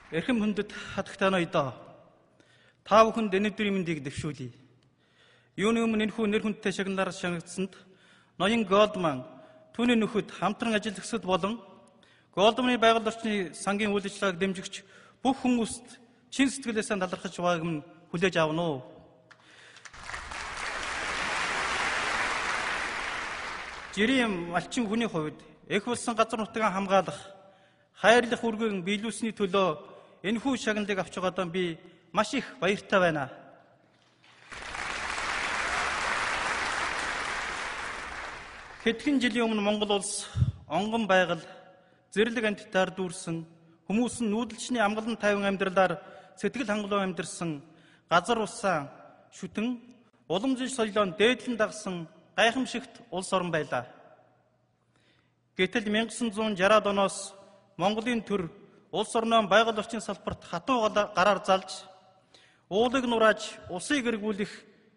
Эрхэм хүндэт хатагтай ноёдоо та бүхэнд өнөөдрийн мэндийг дэвшүүлье. Юуны өмнө энэхүү нэр хүндтэй шагналаар шагнагдсанд ноён Голдман, түүний нөхөд, хамтран ажиллагчид болон Голдманы байгаль орчны сангийн үйл ажиллагааг дэмжигч бүх хүмүүст чин сэтгэлээсээ талархаж байгааг нь хүлээж авна уу? Жирийн малчин хүний хувьд эх болсон газар нутгаа хамгаалах, хайрлах үргийг биелүүлсэний төлөө энэхүү шагналыг авч байгаадаа би маш их баяртай байна. Хэдхэн жилийн өмнө Монгол улс онгон байгаль, зэрлэг амьтдаар дүүрсэн, хүмүүс нь нүүдэлчний амгалан тайван амьдралаар сэтгэл хангалуун амьдарсан, газар усаа шүтэн, уламжлал соёлоо дээдлэн дагсан гайхамшигт улс орн байлаа. Гэтэл 1960-аад оноос Монголын төр улс орноо байгаль орчин салбарт хатуу гараар залж, уулыг нурааж, усыг эргүүлэх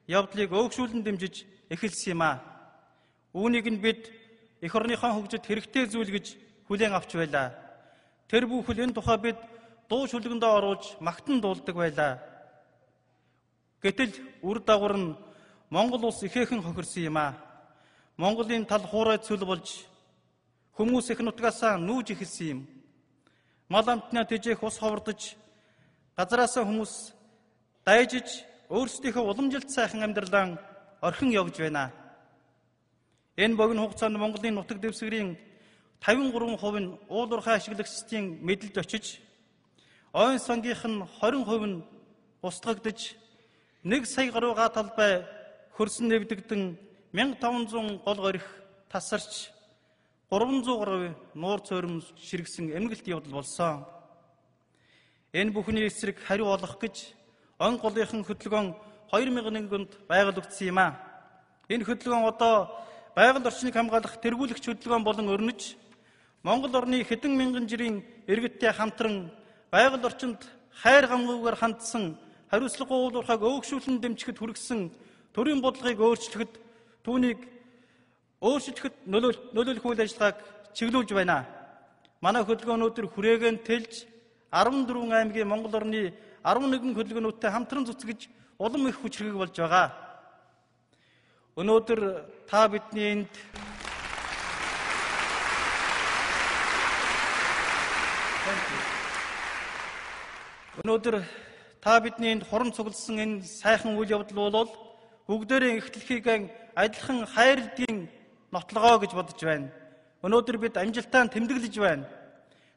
явдлыг өөгшүүлэн дэмжиж эхэлсэн юм аа. Үүнийг нь бид эх орныхон хөгжид хэрэгтэй зүйл гэж хүлээн авч байлаа. Тэр бүхэл энэ тухай бид дуу шүлгэндээ оруулж магтан дуулдаг байлаа. Гэтэл үр дагавар нь Монгол улс ихээхэн хохирсон юм аа. Монголын тал хуурай цөл болж хүмүүс их нутгаасаа нүүж эхэлсэн юм. Мал амтнаа тэжээх ус ховордож, газараасаа хүмүүс дайжиж, өөрсдийнхөө уламжилт сайхан амьдралаа орхин явж байна. Энэ богино хугацаанд Монголын нутаг дэвсгэрийн 53% нь уул уурхай ашиглагчдын мэдэлд очиж, ойн сангийнх нь 20% нь устгагдж, 1 сая гаруй га талбай хөрсөн нэвдэгдэн 1500 гол горих тасарч, 300 гаруй нуур цойром ширгсэн эмгэлт явдал болсон. Энэ бүхний эсрэг хариу олох гэж он голынхан хөтөлбөр 2001 онд байгуулагдсан юм а. Энэ хөтөлбөр одоо байгаль орчныг хамгаалах тэргүүлэгч хөтөлбөр болон өрнөж, Монгол орны хэдэн мянган жирийн иргэдтэй хамтран байгаль орчинд хайр гамгүйгээр хандсан хариуцлагагүй уул уурхайг өөгшүүлэн дэмжихэд хүргэсэн төрийн бодлогыг өөрчлөхөд, түүнийг өөрчлөхөд нөлөөлөх үйл ажиллагааг чиглүүлж байна. Манай хөтөлбөр өнөөдөр хүрээгээр тэлж 14 аймгийн Монгол орны 11 хөтөлбөрнүүдтэй хамтран зүтгэж улам их хүч хэрэг болж байгаа. Өнөөдөр та бидний энд хорон цугласан энэ сайхан үйл явдал бол бүгдээрээ эхлэхийг адилхан хайрлдгийн нотлогоо гэж бодож байна. Өнөөдөр бид амжилтаа тэмдэглэж байна.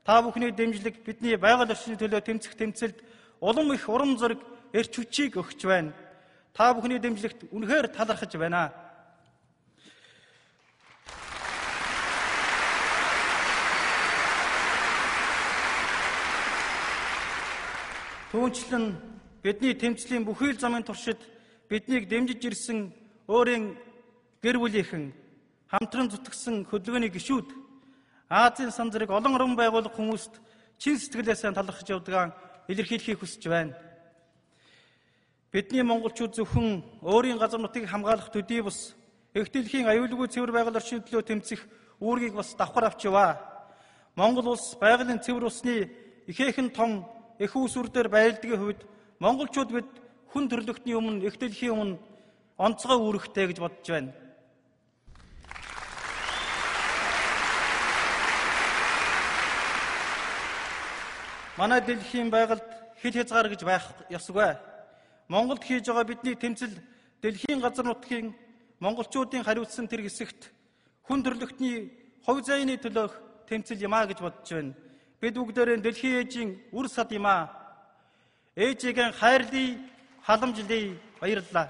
Та бүхний дэмжлэг бидний байгаль орчны төлөө тэмцэх тэмцэлд улам их урам зориг, эрч хүчийг өгч байна. Та бүхний дэмжлэгт үнэхээр талархаж байна. Түүнчлэн бидний тэмцлийн бүхий л замын туршид биднийг дэмжиж ирсэн өөрийн гэр бүлийнхэн, хамтран зүтгэсэн хөдөлгөөний гишүүд, Азийн сан зэрэг олон орон байгууллага хүмүүст чин сэтгэлээсээ талархаж явдгаа илэрхийлэхийг хүсэж байна. Бидний монголчууд зөвхөн өөрийн газар нутгийг хамгаалах төдий бус эх дэлхийн аюулгүй цэвэр байгаль орчны төлөө тэмцэх үүргийг бас давхар авч яваа. Монгол улс байгалийн цэвэр усны ихээхэн том эх үүсвэр дээр баярлдгийн хувьд монголчууд бид хүн төрлөختний өмнө, эх дэлхийн өмнө онцгой үүрэгтэй гэж бодож байна. Манай дэлхийн байгальд хил хязгаар гэж байх ёсгүй. Монголд хийж байгаа бидний тэмцэл дэлхийн газар нутгийн монголчуудын хариуцсан тэр хэсэгт хүн төрлөختний хувь заяаны төлөөх тэмцэл юм а гэж бодож байна. Бид бүгдээрээ дэлхийн ээжийн үр сад юм а. Ээжигээ хайрлая, халамжлая, баярлалаа.